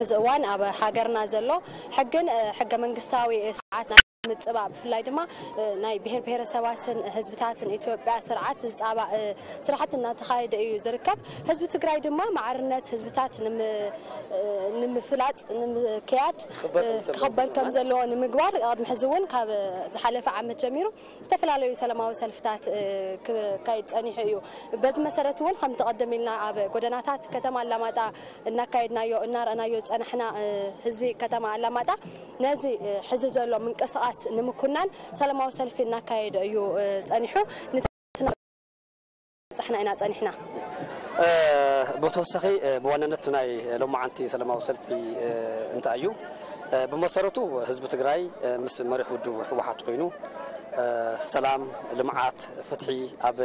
እዚ እዋን ኣብ ሃገርና ዘሎ ሕግን ሕገ መንግስታዊ ስርዓት ናይ ምፅባእ፣ ብፍላይ ድማ ናይ ብሔር ብሔረሰባትን ህዝብታትን ኢትዮጵያ ስርዓት ዝፃባእ ስራሕቲ እናተኻየደ እዩ ዝርከብ። ህዝቢ ትግራይ ድማ ማዕርነት ህዝብታት ንምፍላጥ ንምክያድ ክኽበር ከም ዘለዎ ንምግባር፣ ኣብዚ ሕዚ እውን ካብ ዝሓለፈ ዓመት ጀሚሩ ዝተፈላለዩ ሰላማዊ ሰልፍታት ክካየድ ፀኒሑ እዩ። በዚ መሰረት እውን ከምቲ ቀደም ኢልና ኣብ ጎደናታት ከተማ ኣላማጣ እናካየድናዮ እናረኣናዮ ዝፀናሕና ህዝቢ ከተማ ኣላማጣ ነዚ ሕዚ ዘሎ ምንቅስቃስ ንምኩናን ሰላማዊ ሰልፊ እናካየደ እዩ ፀኒሑ። ንተበፅሕና ኢና ፀኒሕና። ብተወሳኺ ብዋናነት ናይ ሎማዓንቲ ሰላማዊ ሰልፊ እንታይ እዩ? ብመሰረቱ ህዝቢ ትግራይ ምስ መሪሕ ውድብ ህወሓት ኮይኑ ሰላም፣ ልምዓት፣ ፍትሒ ኣብ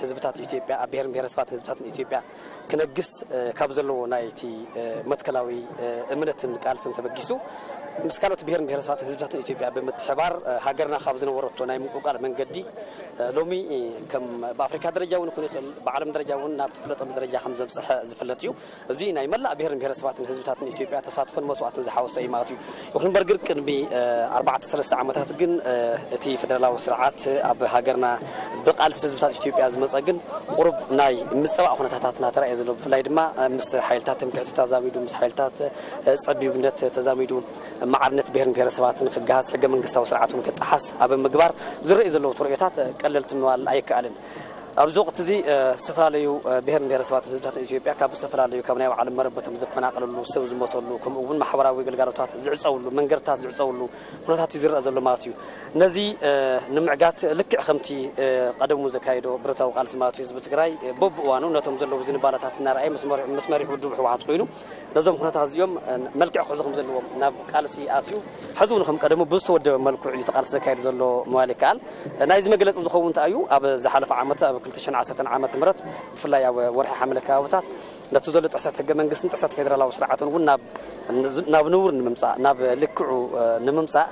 ህዝብታት ኢትዮጵያ፣ ኣብ ብሔርን ብሔረሰባትን ህዝብታትን ኢትዮጵያ ክነግስ ካብ ዘለዎ ናይቲ መትከላዊ እምነትን ቃልስን ተበጊሱ ምስ ካልኦት ብሔርን ብሔረሰባትን ህዝብታትን ኢትዮጵያ ብምትሕባር ሃገርና ካብ ዝነበረቶ ናይ ምንቁልቃል መንገዲ ሎሚ ከም ብኣፍሪካ ደረጃ እውን ይኹን ይኽእል ብዓለም ደረጃ እውን ናብ ትፍለጠሉ ደረጃ ከም ዘብፅሐ ዝፍለጥ እዩ። እዚ ናይ መላእ ብሔርን ብሔረሰባትን ህዝብታትን ኢትዮጵያ ተሳትፎን መስዋእትን ዝሓወሰ እዩ ማለት እዩ። ይኹን እምበር ግን ቅድሚ ኣርባዕተ ሰለስተ ዓመታት ግን እቲ ፌደራላዊ ስርዓት ኣብ ሃገርና ብቃልሲ ህዝብታት ኢትዮጵያ ዝመፀ ግን ቁሩብ ናይ ምፅባእ ኩነታታት እናተረኣየ ዘሎ፣ ብፍላይ ድማ ምስ ሓይልታት ትምክሕቲ ተዛሚዱ ምስ ሓይልታት ፀቢብነት ተዛሚዱ ማዕርነት ብሔርን ብሔረሰባትን ክገሃስ ሕገ መንግስታዊ ስርዓት እውን ክጠሓስ ኣብ ምግባር ዝረኣዩ ዘለዉ ተርእዮታት ቀለልቲ ምባል ኣይከኣልን። ኣብዚ ወቅቲ እዚ ዝተፈላለዩ ብሄርን ብሄረሰባትን ህዝብታትን ኢትዮጵያ ካብ ዝተፈላለዩ ካብ ናይ ባዕሎም መረበቶም ዝፈናቀልሉ፣ ሰብ ዝሞተሉ፣ ከምኡ እውን ማሕበራዊ ግልጋሎታት ዝዕፀውሉ፣ መንገድታት ዝዕፀውሉ ኩነታት እዩ ዝረአ ዘሎ ማለት እዩ። ነዚ ንምዕጋት ልክዕ ከምቲ ቀደሙ ዘካየዶ ብረታዊ ቃልሲ ማለት እዩ ህዝቢ ትግራይ በብእዋኑ ነቶም ዘለዉ ዝንባለታት እናረኣየ ምስ መሪሕ ውድብ ህወሓት ኮይኑ ነዞም ኩነታት እዚኦም መልክዕ ክሕዙ ከም ዘለዎም ናብ ቃልሲ ኣትዩ ሕዚ እውን ከም ቀደሙ ብዝተወደበ መልክዑ እዩ እቲ ቃልሲ ዘካየድ ዘሎ ምባል ይከኣል። ናይዚ መግለፂ ዝኸውን እንታይ እዩ? ኣብ ዝሓለፈ ዓመት ኣብ ክልተ ሽሕን ዓሰርተን ዓመተ ምህረት ብፍላይ ኣብ ወርሒ ሓምለ ከባብታት ነቲ ዘሎ ጥሕሰት ሕገ መንግስትን ጥሕሰት ፌደራላዊ ስርዓትን እውን ናብ ናብ ንቡር ንምምፃእ ናብ ልክዑ ንምምፃእ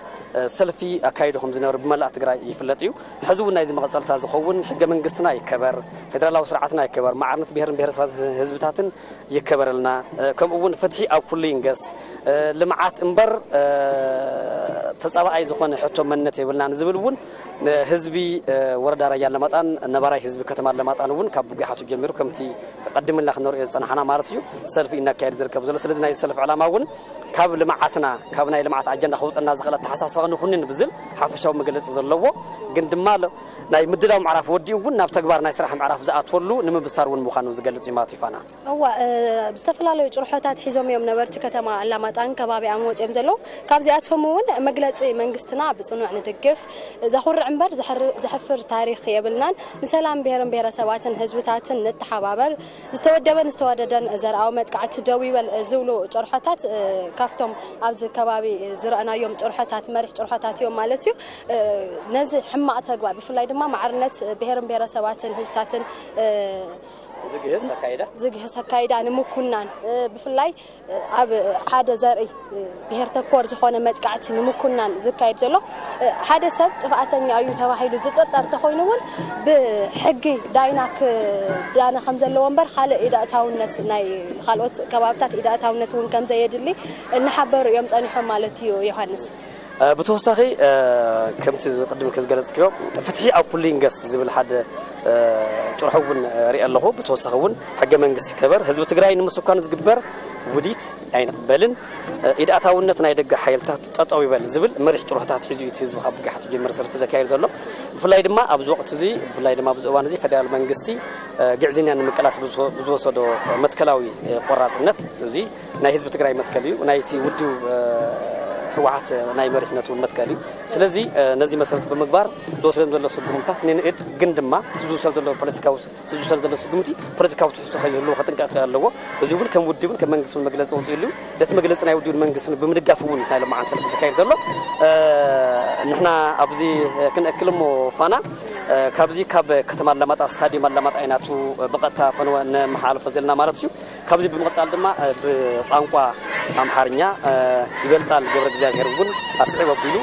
ሰልፊ ኣካይዱ ከም ዝነበረ ብመላእ ትግራይ ይፍለጥ እዩ። ሕዚ እውን ናይዚ መቐፀልታ ዝኸውን ሕገ መንግስትና ይከበር፣ ፌደራላዊ ስርዓትና ይከበር፣ ማዕርነት ብሄርን ብሄረሰባት ህዝብታትን ይከበረልና፣ ከምኡ እውን ፍትሒ ኣብ ኩሉ ይንገስ፣ ልምዓት እምበር ተፃባኣይ ዝኾነ ሕቶ መንነት የብልናን ዝብል እውን ህዝቢ ወረዳ ራያ ኣለማጣን ነባራይ ህዝቢ ከተማ ኣለማጣን እውን ካብ ብጉሓቱ ጀሚሩ ከምቲ ቀድምና ክንሪኦ ዝፀናሕና ማለት እዩ ሰልፊ እናካየድ ዝርከብ ዘሎ። ስለዚ ናይ ሰልፊ ዕላማ እውን ካብ ልምዓትና ካብ ናይ ልምዓት ኣጀንዳ ከውፀና ዝኽእል ኣተሓሳስባ ንኹንን ብዝብል ሓፈሻዊ መግለፂ ዘለዎ ግን ድማ ናይ ምድላው ምዕራፍ ወዲኡ እውን ናብ ተግባር ናይ ስራሕ ምዕራፍ ዝኣትወሉ ንምብሳር እውን ምዃኑ ዝገልፅ እዩ ማለት እዩ ፋና። እዋ ዝተፈላለዩ ጭርሖታት ሒዞም እዮም ነበርቲ ከተማ ኣላማጣን ከባቢኣን ወፂኦም ዘለዉ። ካብዚኣቶም እውን መግለፂ መንግስትና ብፅኑዕ ንድግፍ፣ ዘኹርዕ እምበር ዘሕፍር ታሪክ የብልናን፣ ንሰላም ብሄርን ብሄረሰባትን ህዝብታትን ንተሓባበር፣ ዝተወደበን ዝተዋደደን ዘርኣዊ መጥቃዕቲ ደው ይበል ዝብሉ ጭርሖታት ካብቶም ኣብዚ ከባቢ ዝረኣናዮም ጭርሖታት መሪሕ ጭርሖታት እዮም ማለት እዩ። ነዚ ሕማቕ ተግባር ብፍላይ ድማ ማዕርነት ብሄርን ብሄረሰባትን ህዝብታትን ዝግህስ ኣካይዳ ዝግህስ ኣካይዳ ንምኩናን ብፍላይ ኣብ ሓደ ዘርኢ ብሄር ተኮር ዝኾነ መጥቃዕቲ ንምኩናን ዝካየድ ዘሎ ሓደ ሰብ ጥፍኣተኛ እዩ ተባሂሉ ዝጥርጠር ተኾይኑ እውን ብሕጊ ዳይና ክዳነ ከም ዘለዎ እምበር ካልእ ኢዳእታውነት ናይ ካልኦት ከባብታት ኢዳእታውነት እውን ከም ዘየድሊ እናሓበሩ እዮም ፀኒሖም ማለት እዩ ዮሃንስ። ብተወሳኺ ከምቲ ቅድም ከዝገለፅክዮ ፍትሒ ኣብ ኩሉ ይንገስ ዝብል ሓደ ጭርሖ እውን ርኢ ኣለኹ። ብተወሳኺ እውን ሕገ መንግስቲ ይከበር፣ ህዝቢ ትግራይ ንምስኳን ዝግበር ውዲት ኣይንቕበልን፣ ኢድኣታውነት ናይ ደገ ሓይልታት ጠጠው ይበል ዝብል መሪሕ ጭርሖታት ሒዙ እዩ እቲ ህዝቢ ካብ ብጊሓቱ ጀመረ ሰልፊ ዘካየድ ዘሎ። ብፍላይ ድማ ኣብዚ ወቕቲ እዚ ብፍላይ ድማ ኣብዚ እዋን እዚ ፌደራል መንግስቲ ግዕዝይና ንምቅላስ ብዝወሰዶ መትከላዊ ቆራፅነት እዚ ናይ ህዝቢ ትግራይ መትከል እዩ፣ ናይቲ ውድብ ህወሓት ናይ መሪሕነት እውን መትከል እዩ። ስለዚ ነዚ መሰረት ብምግባር ዝወሰደም ዘሎ ስጉምታት ንንእድ ግን ድማ እቲ ዝውሰድ ዘሎ ፖለቲካዊ እቲ ዝውሰድ ዘሎ ስጉምቲ ፖለቲካዊ ትሕዝቶ ከይህልዎ ክጥንቀቕ ኣለዎ። እዚ እውን ከም ውድብን ከም መንግስትን መግለፂ ኣውፂእሉ እዩ። ነቲ መግለፂ ናይ ውድብን መንግስትን ብምድጋፍ እውን እዩ ናይ ሎማዓንቲ ሰልፊ ዝካየድ ዘሎ። ንሕና ኣብዚ ክንእክል እሞ ፋና ካብዚ ካብ ከተማ ኣላማጣ ስታዲየም ኣላማጣ ኢና ብቐጥታ ፈነወ ነመሓላልፎ ዘለና ማለት እዩ። ካብዚ ብምቕፃል ድማ ብቋንቋ ኣምሓርኛ ይበልጣል ገብረ እግዚኣብሔር እውን ኣስዕብ ኣቢሉ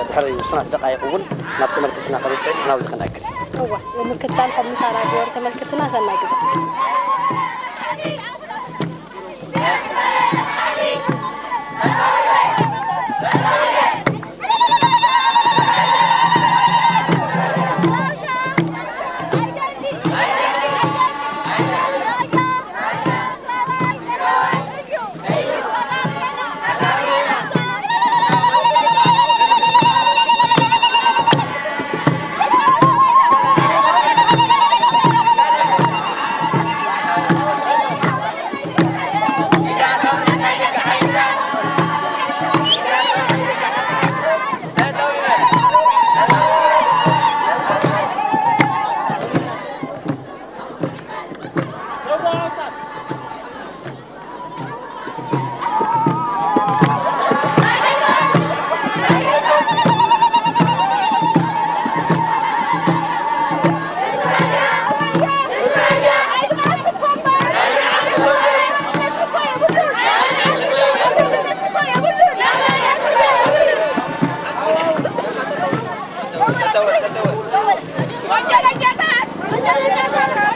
ድሕሪ ውሱናት ደቃይቕ እውን ናብ ተመልክትና ከበፅሕ ንሕና ኣብዚ ክንእክል። እወ ምክትታል ካብ ምሳና ግበሩ ተመልክትና ሰናይ ግዜ። ወንጀለኛታት! ወንጀለኛታት!